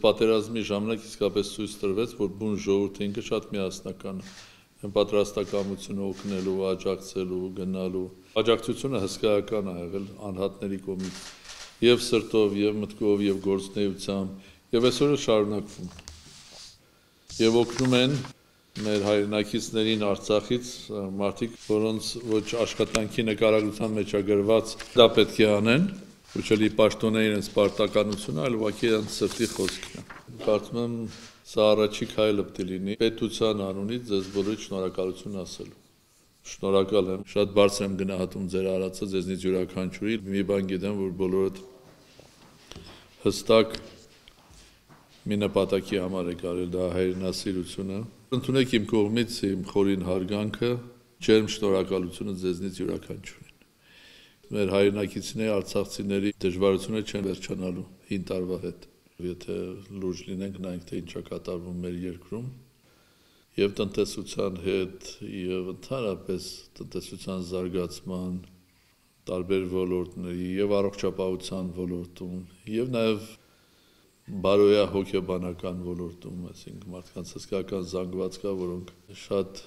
պատերազմի ժամանակ իսկապես ցույց տրվեց, որ բուն ժողովուրդը ինքը շատ միասնական է։ Այն պատրաստակամությունը օգնելու, աջակցելու, գնալու։ Աջակցությունը հսկայական է եղել անհատների կողմից, եւ սրտով, եւ մտքով, եւ գործունեությամբ, եւ այսօր շարունակվում։ Եւ օգնում են մեր հայրենակիցներին Արցախից մարդիկ, որոնց ոչ աշխատանքի նկարագրության մեջ է գրված, դա պետք է անեն, ոչ էլի պաշտոնել իրենց պարտականությունը, այլ ուղղակի իրենց սրտի խոսքն է։ Կարծում եմ սա առաջի քայլը պետք է լինի պետության անունից ձեզ բոլորիդ շնորհակալություն ասելու։ Շնորհակալ եմ, շատ բարձր եմ գնահատում ձեր արածը, ձեզնից յուրաքանչյուրի, մի բան գիտեմ, որ բոլորդ հստակ մի նպատակի համար եք արել, դա հայրենասիրությունը։ Ընդունեք իմ կողմից իմ խորին հարգանքը, ջերմ շնորհակալությունը ձեզնից յուրաքանչյուրին։ Մեր հայրենակիցների, արցախցիների դժվարությունը չեն վերջանալու 5 տարվա հետ։ Եթե լուրջ լինենք, նայենք թե ինչ է կատարվում մեր երկրում, եւ տնտեսության հետ, եւ ընդհանրապես տնտեսության զարգացման տարբեր ոլորտների, եւ առողջապահության ոլորտում, եւ նաեւ բարոյա հոգեբանական ոլորտում, այսինքն մարդկանց հսկայական զանգված կա, որոնք շատ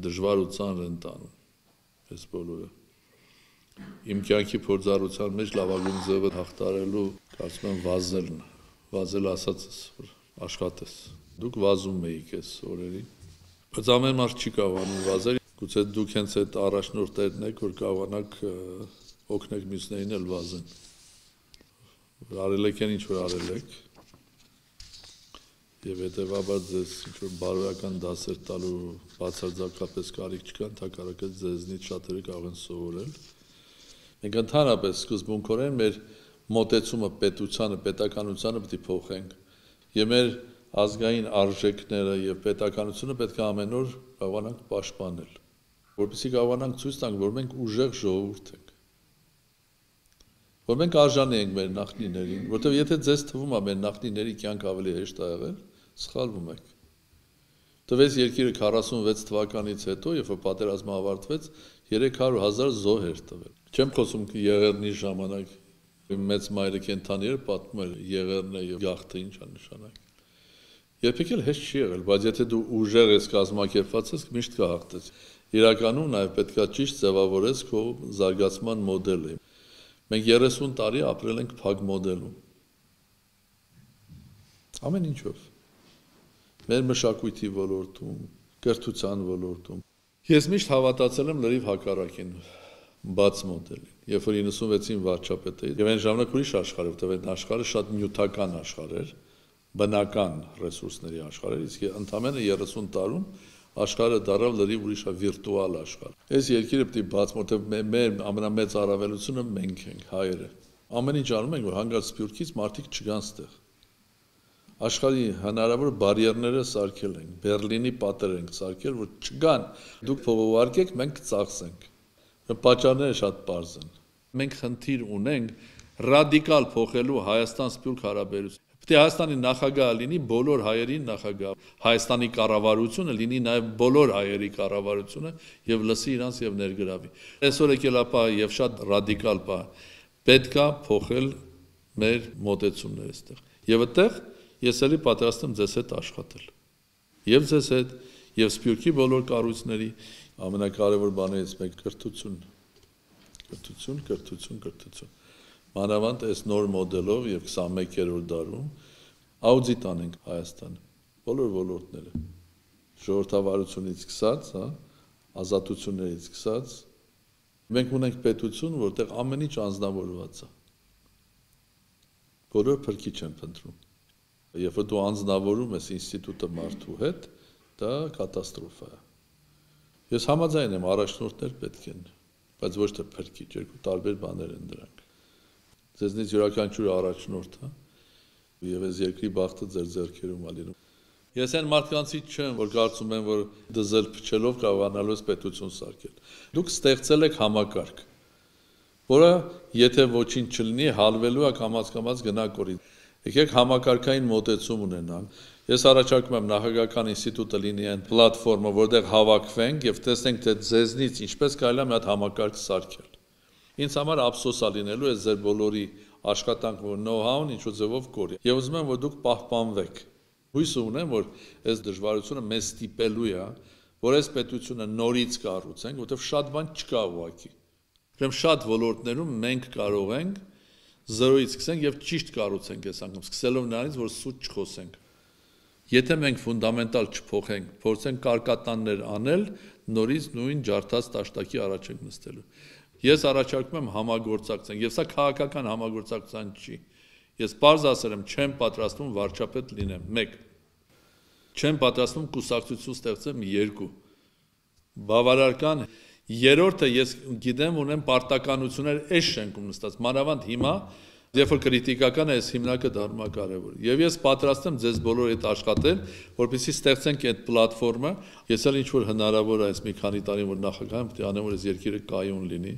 դժվար ու ծանր են տանում, այս բոլորը։ Իմ կյանքի փորձառության մեջ լավագույն ձևը հաղթարելու, կարծում եմ, վազելն է։ Վազել ասածս, որ աշխատես։ Դուք վազում էիք այս օրերին, բայց ամեն մարդ չի կարողանում վազել, գուցե դուք հենց այդ առաջնորդներն եք, որ կարողանաք օգնեք մյուսներին էլ վազեն։ Արել եք ինչ որ արել եք, եւ հետեւաբար ձեզ ինչ-որ բարոյական դասեր տալու բացարձակապես կարիք չկա, ընդհակառակը ձեզնից շատերը կարող են սովորել։ Մենք ընդհանրապես սկզբունքորեն մեր մոտեցումը պետությանը, պետականությանը պետք է փոխենք, եւ մեր ազգային արժեքները եւ պետականությունը պետք է ամեն օր կարողանանք պաշտպանել, որպեսզի կարողանանք ցույց տանք, որ մենք ուժեղ ժողովուրդ ենք, որ մենք արժանի ենք մեր նախնիներին, որտեղ եթե ձեզ թվում է մեր նախնիների կյանք ավելի հեշտ է եղել, սխալվում եք։ Տվեց երկիրը 46 թվականից հետո, երբ որ պատերազմը ավարտվեց, 300,000 զոհ էր տվել։ Չեմ խոսում Եղեռնի ժամանակ, մեծ մայրը կենթանի էր պատմում էր Եղեռնը եւ գաղթը ինչ է նշանակում։ Երբեք էլ հեշտ չի եղել, բայց եթե դու ուժեղ ես կազմակերպված ես, միշտ կհաղթես։ Իրականում նաեւ պետքա ճիշտ ձևավորես քո զարգացման մոդելը։ Մենք 30 տարի ապրել ենք փակ մոդելում։ Ամեն ինչով։ Մեր մշակույթի ոլորտում, կրթության ոլորտում։ Ես միշտ հավատացել եմ լրիվ հակառակին, բաց մոդելին։ Երբ որ 96-ին վարչապետ էի, եւ այն ժամանակ ուրիշ աշխարհ էր, որտեղ այդ աշխարհը շատ նյութական աշխարհ էր, բնական ռեսուրսների աշխարհ էր, իսկ ընդամենը 30 տարում աշխարհը դարձավ լրիվ ուրիշ վիրտուալ աշխարհ։ Այս երկիրը պետք է բաց, որտեղ մեր ամենամեծ առավելությունը մենք ենք, հայերը։ Ամեն ինչ անում ենք, որ հանգած Սփյուռքից մարդիկ չգան ստեղ։ Աշխարհի հնարավոր բարիերները սարքել ենք, Բերլինի պատեր ենք սարքել, որ չգան։ Դուք փողովարկեք, մենք կծախսենք։ Պատճառները շատ պարզ են։ Մենք խնդիր ունենք ռադիկալ փոխելու Հայաստան-Սփյուռք հարաբերություն։ Պետք է Հայաստանի նախագահը լինի բոլոր հայերի նախագահ, Հայաստանի կառավարությունը լինի նաև բոլոր հայերի կառավարությունը եւ լսի իրանց եւ ներգրավի։ Այսօր եկել է պահը եւ շատ ռադիկալ պահ։ Պետք է փոխել մեր մոտեցումները այստեղ։ Եվ այդտեղ ես էլի պատրաստ եմ ձեզ հետ աշխատել։ Եվ ձեզ հետ, եւ Սփյուռքի բոլոր կառույցների ամենակարևոր բաներից մեկ կրթություն։ Կրթություն։ Մանավանդ այս նոր մոդելով եւ 21-րդ դարում աուդիտ անենք Հայաստանը, բոլոր ոլորտները, ժողովրդավարությունից սկսած, ազատություններից սկսած, մենք ունենք պետություն, որտեղ ամեն ինչ անձնավորված է։ Բոլոր փրկիչ են փնտրում։ Երբ որ դու անձնավորում ես ինստիտուտը մարդու հետ, դա կատաստրոֆա է։ Ես համաձայն եմ, առաջնորդներ պետք են, բայց ոչ թե փրկիչ, երկու տարբեր բաներ են դրանք։ Ձեզնից յուրաքանչյուր առաջնորդ է, եւ այս երկրի բախտը ձեր ձեռքերում է լինում։ Ես այն մարդկանցից չեմ, որ կարծում են, որ դզել փչելով կարողանալու ես պետություն սարքել։ Դուք ստեղծել եք համակարգ, որը եթե ոչինչ չլինի, հալվելու է կամաց գնա կորի։ Եկեք համակարգային մոտեցում ունենանք։ Ես առաջարկում եմ նախագահական ինստիտուտը լինի այն պլատֆորմը, որտեղ հավաքվենք եւ տեսնենք, թե ձեզնից ինչպես կարելի է մի հատ համակարգ սարքել։ Ինձ համար ափսոս է լինելու այս ձեր բոլորի աշխատանք, որ know-how-ն ինչ-որ ձևով կորի։ Եվ ուզում եմ, որ դուք պահպանվեք։ Հույս ունեմ, որ այս դժվարությունը մեզ ստիպելու է, որ այս պետությունը նորից կառուցենք, որովհետև շատ բան չկա ուղղակի։ Ուրեմն շատ ոլորտներում մենք կարող ենք զրոյից սկսենք եւ ճիշտ կառուցենք այս անգամ, սկսելով նրանից, որ սուտ չխոսենք։ Եթե մենք ֆունդամենտալ չփոխենք, փորձենք կարկատաններ անել, նորից նույն ջարդած տաշտակի առաջ ենք նստելու։ Ես առաջարկում եմ համագործակցենք, եւ սա քաղաքական համագործակցության չի։ Ես պարզ ասել եմ, չեմ պատրաստվում վարչապետ լինեմ, 1. Չեմ պատրաստվում կուսակցություն ստեղծեմ, 2. Բավարարական երրորդը ես գիտեմ ունեմ պարտականություններ այս շենքում նստած, մանավանդ հիմա, երբ որ քրիտիկական է, այս հիմնակը դառնում է կարևոր։ Եվ ես պատրաստ եմ ձեզ բոլորի հետ աշխատել, որպեսզի ստեղծենք այդ պլատֆորմը, ես էլ ինչ որ հնարավոր է այս մի քանի տարին որ նախագահ եմ, պետք է անեմ, որ այս երկիրը կայուն լինի,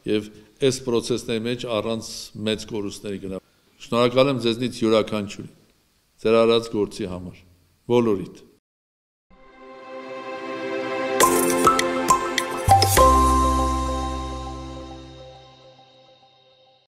եւ այս process-ների մեջ առանց մեծ կորուստների գնա։ Շնորհակալ եմ ձեզնից յուրաքանչյուրին, ձեր արած գործի համար, բոլորիդ։